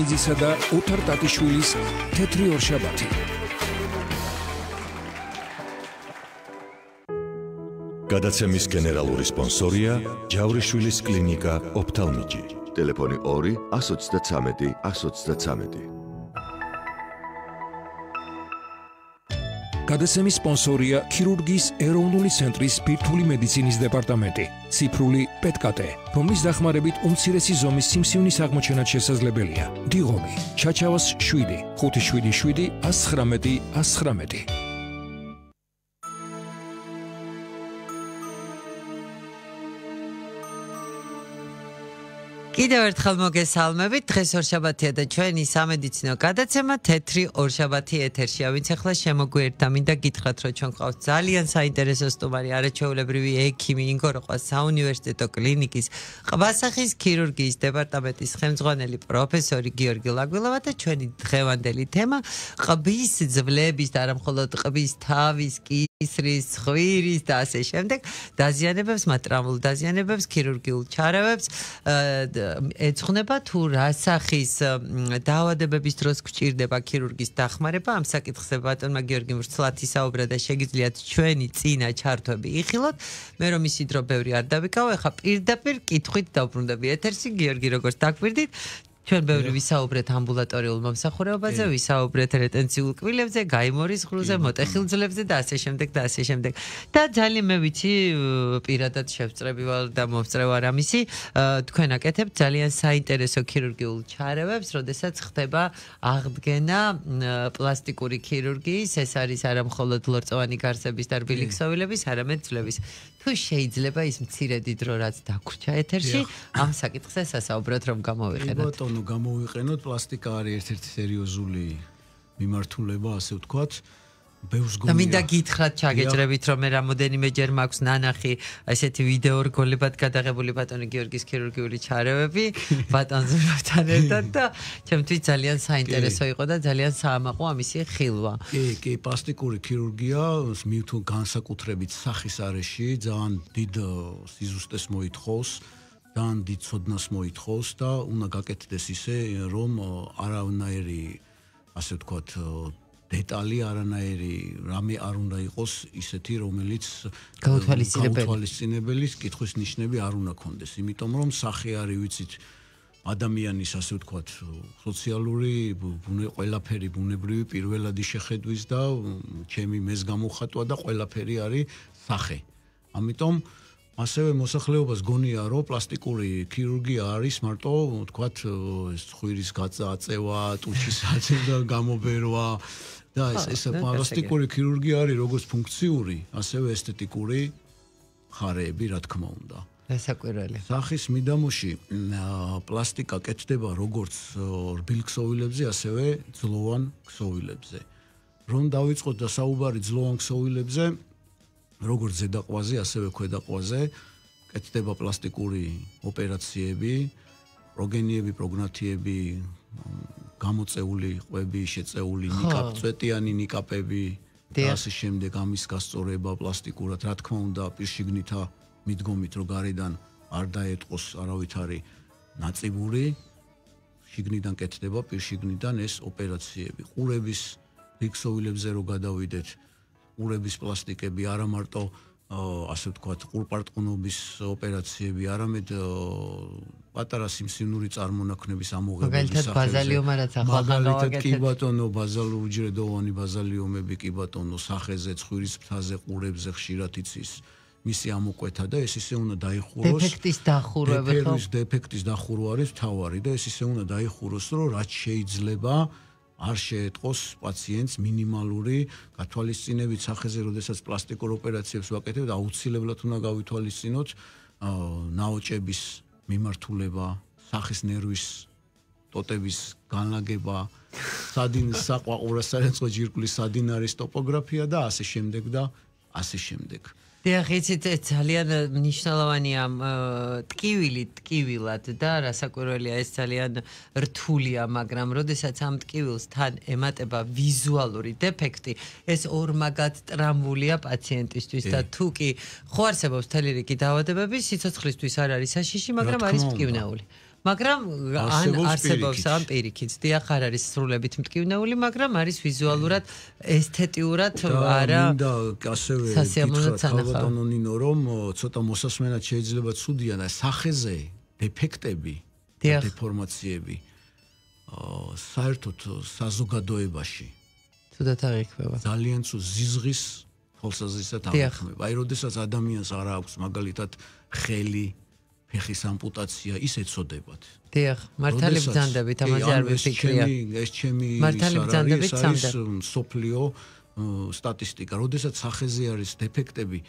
იძისა და ოთარ ტატიშვილის თეთრი ორშაბათი. გადაცემის გენერალური სპონსორია ჯავრიშვილის კლინიკა ოფთალმიჯი. ტელეფონი 2 133 133. გადაცემის სპონსორია ქირურგიის ეროვნული ცენტრის ბირთვული მედიცინის დეპარტამენტი, ციფრული პეტკატე, რომლის დახმარებით უმცირესი ზომის სიმსივნის აღმოჩენაც შესაძლებელია. დიღომი, ჩაჩავას 7 577 119 119. კიდევ ერთხელ მოგესალმებით. დღეს ორშაბათია და ჩვენი სამედიცინო გადაცემა თეთრი ორშაბათი ეთერშია. ვინც ახლა შემოგვიერთდა, მინდა გითხრათ, რომ ჩვენ ყავს ძალიან საინტერესო სტუმარი, არაჩვეულებრივი ექიმი, ინგოროყვა საუნივერსიტეტო კლინიკის ყვასახის ქირურგიის დეპარტამენტის ხელმძღვანელი პროფესორი გიორგი ლაგვილოვა და ჩვენი დღევანდელი თემა ყბის ძვლების და არა მხოლოდ ყბის თავის, ისრის, ხვირის და ასე შემდეგ დაზიანებებს, მატრამულ დაზიანებებს, ქირურგიულ ჩარევებს ეძღვნება თუ რა სახის დაავადებების დროს გვჭირდება ქირურგის დახმარება. ამ საკითხზე ბატონმა გიორგიმ ვრცლად ისაუბრა და შეგიძლიათ ჩვენი წინა ჩართვები იხილოთ. მე რომ ისი დრო ბევრი არ დავიკავო, ეხლა პირდაპირ კითხვით დავბრუნდები ეთერში. გიორგი, როგორც დაგვირდით, ჩვენ ბევრი ვისაუბრეთ ამბულატორიულ მომსახურებაზე, ვისაუბრეთ რეტენციულ კბილებზე, გაიმორის ღრუზე, მოტეხილ-ძვლებზე და ასე შემდეგ და ასე შემდეგ. და ძალიან მე ვიცი, პირადად შევწრები ვარ და მომწრე ვარ ამისი, თქვენ აკეთებთ ძალიან საინტერესო ქირურგიულ ჩარევებს, როდესაც ხდება აღდგენა პლასტიკური ქირურგიის, ეს არის არა მხოლოდ ლორწოვანი გარსების და რბილი ქსოვილების, არამედ ძვლების. თუ შეიძლება ის მცირედი დრო რაც დაგვრჩა ეთერში, ამ საკითხზე სასაუბროთ რომ გამოვიყენოთ. გამოვიყენოთ, პლასტიკა არის ერთ-ერთი სერიოზული მიმართულება, ასე ვთქვათ. ბევრს და მინდა გითხრათ, ჩაგეჭრებით, რომ მე რამოდენიმეჯერ მაქვს ნანახი ესეთი ვიდეო რგოლებად გადაღებული ბატონი გიორგის ქირურგიული ჩარევები, ბატონ ზურაბთან ერთად და ჩემთვის ძალიან საინტერესო იყო და ძალიან საამაყო ამისი ხილვა. კი, პლასტიკური ქირურგია მივთულ განსაკუთრებით სახის არეში ძალიან დიდ სიზუსტეს მოითხოვს. ძალიან დიდ ცოდნას მოითხოვს და უნდა გაკეთდეს ისე, რომ არანაირი, ასე ვთქვათ, დეტალი, არანაირი რამე არ უნდა იყოს ისეთი, რომელიც გაუთვალისწინებელი კითხვის ნიშნები არ უნდა ქონდეს. იმიტომ რომ სახე არის, ვიცით, ადამიანის, ასე ვთქვათ, სოციალური ყველაფერი ბუნებრივი პირველადი შეხედვის და ჩემი მეს გამოხატვა და ყველაფერი არის სახე. ამიტომ ასევე მოსახლეობას გონია, რომ პლასტიკური ქირურგია არის მარტო, ვთქვათ, ხვირის გაწევა, ტუჩის აწევა, გამობერვა და ეს პლასტიკური ქირურგია არის როგორც ფუნქციური, ასევე ესთეტიკური ხარეები, რა თქმა უნდა. დასაკვირველი. სახის მიდამოში პლასტიკა კეთდება როგორც რბილ ქსოვილებზე, ასევე ძლოვან ქსოვილებზე. რომ დავიწყოთ და საუბარი ძლოვან ქსოვილებზე, როგორც ზედაყვაზე, ასევე ქვედაყვაზე კეთდება პლასტიკური ოპერაციები, პროგენიები, პროგნათიები, გამოწეული ყვები, შეწეული წვეტიანი ნიკაპები და ასე შემდეგ ამის გასწორება პლასტიკურად. რა თქმა უნდა, პირშიგნითა მიდგომით, რომ გარედან არ დაეტყოს არავითარი ნაწიბური, შიგნიდან კეთდება პირშიგნიდან ეს ოპერაციები. ყურების ქსოვილებზე რო გადავიდეთ, ყურების პლასტიკები არა მარტო ასე ვთქვათ, ყურპარტყუნობის ოპერაციები, არამედ პატარა სიმსივნური წარმონაქმნების ამოღების მაგალითად ბაზალიომა რაც ახლა მაგალითად კი ბატონო, უჯრედოვანი ბაზალიომები კი ბატონო, სახეზე, ხვირის ფრთაზე, ყურებზე ხშირად იცის მისი ამოკვეთა და ეს ისე უნდა დაიხუროს. დეფექტის დახურვა ხო? დეფექტის დახურვა არის მთავარი და ეს ისე უნდა დაიხუროს, რომ რაც შეიძლება არ შეეტყოს პაციენტს მინიმალური გათვალისწინებით სახეზე, როდესაც პლასტიკურ ოპერაციებს ვაკეთებთ, აუცილებლად უნდა გავითვალისწინოთ ნაოჭების მიმართულება, სახის ნერვის ტოტების განლაგება, საყვაყურასარენწყო ჯირკვლის სადინარის ტოპოგრაფია და ასე შემდეგ და ასე შემდეგ. დიახ, იცით, ძალიან მნიშვნელოვანია ტკივილად და რასაკვირველია, ეს ძალიან რთულია, მაგრამ როდესაც ამ ტკივილს თან ემატება ვიზუალური დეფექტი, ეს ორმაგად ტრამვულია პაციენტისთვის და თუ კი ხო არსებობს მთელი რიგი დაავადებები, სიცოცხლისთვის არ არის საშიში, მაგრამ არის მტკივნეული. მაგრამ ან არსებობს ამ პირიქით. დიახ, არ არის სრულებით მტკივნეული, მაგრამ არის ვიზუალურად, ესთეტიურად არა. და ასევე ქალბატონო ნინო, რომ ცოტა მოსასმენად შეიძლება ცუდია და სახეზე დეფექტები, დეფორმაციები საერთოდ საზოგადოებაში თუდად აღიქმება. ძალიან ცუდ ზიზღის თვალსაზრისით აღიქმება. აი, როდესაც ადამიანს არ აქვს მაგალითად ხელი, ფეხის ამპუტაცია, ის ეცოდებათ. დიახ, მართალი ბრძანდებით, ამაზე არ ვიფიქრია. ეს ჩემი მართალი ბრძანდებით სამდე. სოფლიო სტატისტიკა, როდესაც სახეზე არის დეფექტები,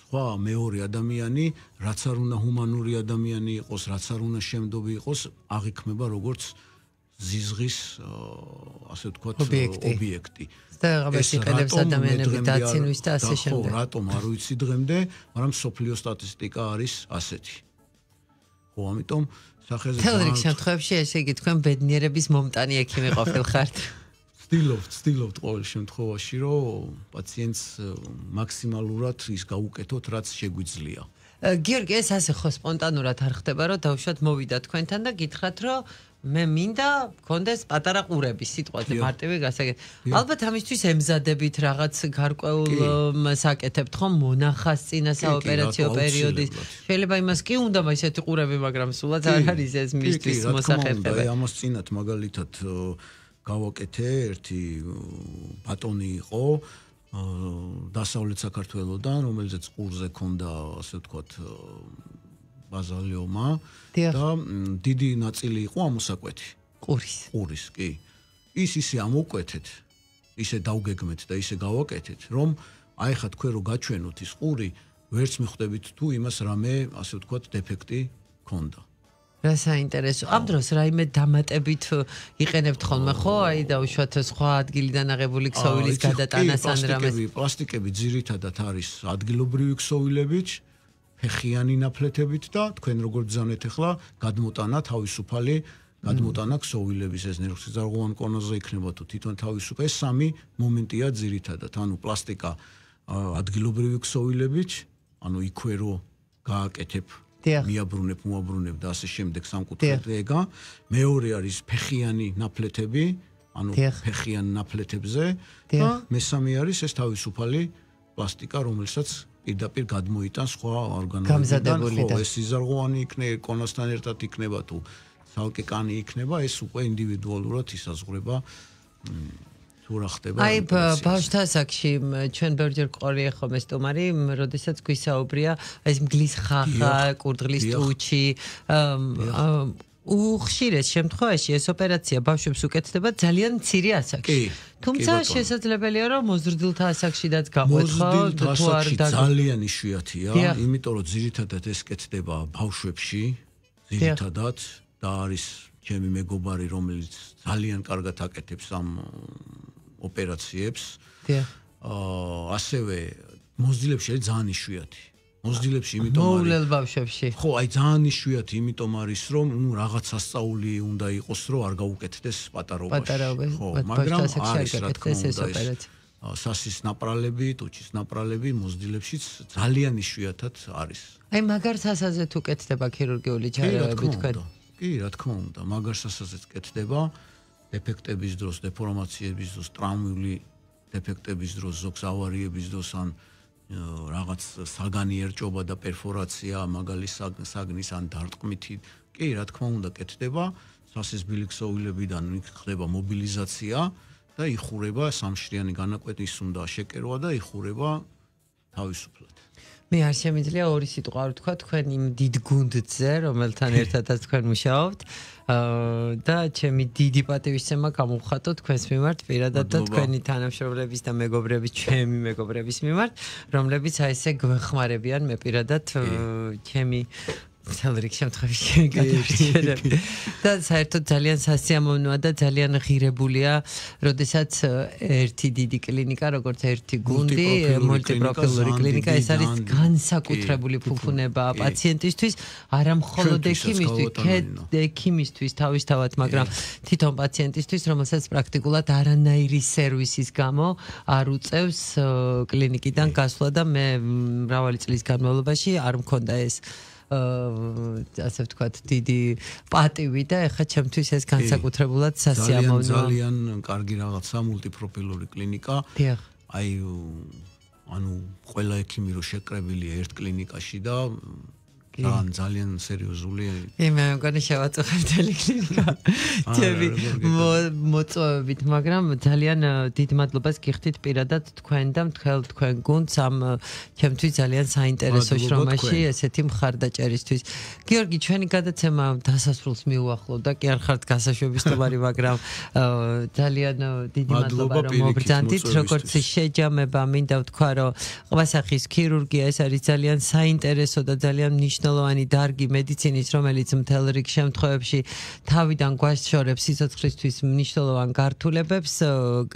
სხვა მეორე ადამიანი, რაც არ უნდა ჰუმანური ადამიანი იყოს, რაც არ უნდა შემდობი იყოს, აღიქმება როგორც ზიზღის, ასე ვთქვათ, ობიექტი. და რაღაც იყენებს ადამიანები დაცინვის და ასე შემდეგ. ხო, რატომ არ ვიცი დღემდე, მაგრამ სოფლიო სტატისტიკა არის ასეთი. ხო, ამიტომ სახეზე თელრიგ შემთხვევაში ესე იგი თქვენ ბედნიერების მომტანი ექიმი ყოფილ ხართ. ვცდილობთ ყოველ შემთხვევაში, რომ პაციენტს მაქსიმალურად ის გაუკეთოთ, რაც შეგვიძლია. გიორგი, ეს ასე ხო სპონტანურად არ ხდება, რომ დავუშვათ მოვიდა თქვენთან და გითხრათ, რომ მე მინდა გქონდეს პატარა ყურები, სიტყვაზე მარტივი გასაგები. ალბათ ამისთვის ემზადებით რაღაც გარკვეულ საკეთებთ ხომ მონახას წინა საოპერაციო პერიოდის. შეიძლება იმას კი უნდა ისეთი ყურები, მაგრამ სულაც არ არის ეს მისთვის მოსახერხებელი. ამას წინათ მაგალითად გავაკეთე, ერთი ბატონი იყო დასავლეთ საქართველოდან, რომელზეც ყურზე ქონდა, ასე ვთქვათ, ბაზალიომა და დიდი ნაწილი იყო ამოსაკვეთი. ყურის, კი. ის ისე ამოკვეთეთ, ისე დავგეგმეთ და ისე გავაკეთეთ, რომ აი ხა თქვენ რო გაჩვენოთ ის ყური, ვერც მიხვდებით თუ იმას რამე, ასე ვთქვათ, დეფექტი ქონდა. რა საინტერესო. ამ დროს რაიმე დამატებით იყენებთ ხოლმე, ხო? აი დავუშვათ სხვა ადგილიდან აღებული ქსოვილის გადატანას ან რამეს. პლასტიკები ძირითადად არის ადგილობრივი ქსოვილებით, ფეხიანი ნაფლეთებით და თქვენ როგორ ბრძანეთ ახლა გადმოტანა თავისუფალი გადმოტანა ქსოვილების ეს ნერვსიზარღვოვან კონოზე იქნება თუ თვითონ თავისუფალი ეს სამი მომენტია ძირითადად. ანუ პლასტიკა ადგილობრივი ქსოვილებით, ანუ იქვე რო გააკეთებ მიაბრუნებ, მოაბრუნებ და ასე შემდეგ სამკუთხედ ეგა. მეორე არის ფეხიანი ნაფლეთები, ანუ ფეხიან ნაფლეთებზე და მესამე არის ეს თავისუფალი პლასტიკა, რომელსაც პირდაპირ გადმოიტანს სხვა ორგანოებიდან. ხო, ეს სიზარღვოვანი იქნება, კონოსთან ერთად იქნება თუ ცალკე კანი იქნება, ეს უკვე ინდივიდუალურად ისაზღვრება თუ რა ხდება. აი ბავშვთა ასაკში ჩვენ ბევრჯერ ყოლია ხომ ეს სტუმარი, როდესაც გვისაუბრია ეს მგლის ხახა, კურდღლის ტუჩი, უხშირეს შემთხვევაში ეს ოპერაცია ბავშვებს უკეთდება ძალიან მცირე ასაკში. თუმცა შესაძლებელია რომ მოზრდილთა ასაკშიდაც გამოეცხო თუ არ ძალიან იშვიათია, იმიტომ რომ ძირითადად ეს კეთდება ბავშვებში, ძირითადად და არის ჩემი მეგობარი, რომელიც ძალიან კარგად აკეთებს ამ ოპერაციებს. ასევე მოზრდილებში არის ძალიან იშვიათი. მოზრდილებში იმიტომ არის მოვლელ ბავშვებში. ხო, აი ძალიან იშვიათი, იმიტომ არის რომ რაღაც სასწაული უნდა იყოს, რომ არ გაუკეთდეს პატარობაში. ხო, მაგრამ არის რა თქმა უნდა სასის ნაპრალები, ტუჩის ნაპრალები მოზრდილებშიც ძალიან იშვიათად არის. აი მაგარ სასაზე თუ კეთდება ქირურგიული ჩარეობები თქვენ? კი, რა თქმა უნდა, მაგარ სასაზეც კეთდება დეფექტების დროს, დეფორმაციების დროს, ტრაუმული დეფექტების დროს, ზოგს ავარიების დროს ან რაღაც საგანი ერჭობა და პერფორაცია, მაგალი საგნის ან დარტყმითი, კი, რა თქმა უნდა, კეთდება, სასის ბილიქსოვილებიდან ხდება მობილიზაცია და იხურება სამშრიანი განაკვეთის უნდა შეკერვა და იხურება თავისუფლად. მე არ შემიძლია ორი სიტყვა არ ვთქვა თქვენ იმ დიდ გუნდზე, რომელთან ერთადაც თქვენ მუშაობთ და ჩემი დიდი პატივისცემა გამოვხატო თქვენს მიმართ პირადად და თქვენი თანამშრომლების და მეგობრების, ჩემი მეგობრების მიმართ, რომლებიც აი ესე გვეხმარებიან მე პირადად ჩემი თელრიგ შემთხვევაში გადავიწერებ. და საერთოდ ძალიან სასიამოვნოა და ძალიან ღირებულია, როდესაც ერთი დიდი კლინიკა, როგორც ერთი გუნდი, მულტიპროფილური კლინიკა, ეს არის განსაკუთრებული ფუფუნება პაციენტისთვის, არა მხოლოდ ექიმისთვის თავისთავად, მაგრამ თვითონ პაციენტისთვის, რომელსაც პრაქტიკულად არანაირი სერვისის გამო არ უწევს კლინიკიდან გასვლა და მე მრავალი წლის განმავლობაში არ მქონდა ეს ასე ვთქვათ, დიდი პატივი და ეხლა ჩემთვის ეს განსაკუთრებულად სასიამოვნოა. ძალიან კარგი რაღაცა მულტიპროფილური კლინიკა. დიახ. აი ანუ ყველა ექიმი რო შეკრებილია ერთ კლინიკაში და ძალიან სერიოზული. მე მგონი შევაწუხებ მთელი კლინიკა. ჩემი მოწვევებით, მაგრამ ძალიან დიდ მადლობას გიხდით პირადად თქვენ და თქვენ გუნდს ამ ჩემთვის ძალიან საინტერესო შრომაში ესეთი მხარდაჭერისთვის. გიორგი, ჩვენი გადაცემა დასასრულს მიუახლოვდა, კი არ ხართ გასაშვების სტუმარი, მაგრამ ძალიან დიდი მადლობა რომ მობრძანდით, როგორც შეჯამება, მინდა ვთქვა, რომ ყვასახის ქირურგია ეს არის ძალიან საინტერესო და ძალიან მნიშვნელოვანი დარგი მედიცინის, რომელიც მთელ რიგ შემთხვევებში თავიდან გვაშორებს სიცოცხლისთვის მნიშვნელოვან გართულებებს.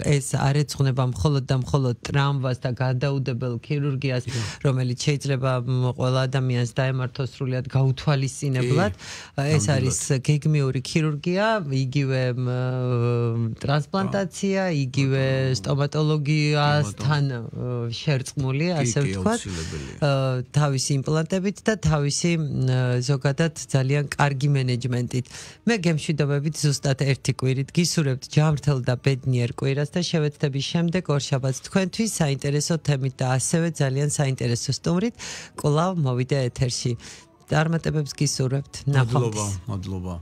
ეს არ ეძღვნება მხოლოდ და მხოლოდ ტრამვას და გადაუდებელ ქირურგიას, რომელიც შეიძლება ყველა ადამიანს დაემართოს სრულად გაუთვალისწინებლად. ეს არის გეგმიური ქირურგია, იგივე ტრანსპლანტაცია, იგივე სტომატოლოგიასთან შერწყმული, ასე ვთქვათ, თავისი იმპლანტებით და თავისი ზოგადად ძალიან კარგი მენეჯმენტით. მე გემშვიდობებით ზუსტად ერთი კვირით გისურვებთ ჯანმრთელ და ბედნიერ კვირას და შევეცდები შემდეგ ორშაბათს თქვენთვის საინტერესო თემით და ასევე ძალიან საინტერესო სტუმრით კვლავ მოვიდა ეთერში. წარმატებებს გისურვებთ. ნახვამდის. მადლობა.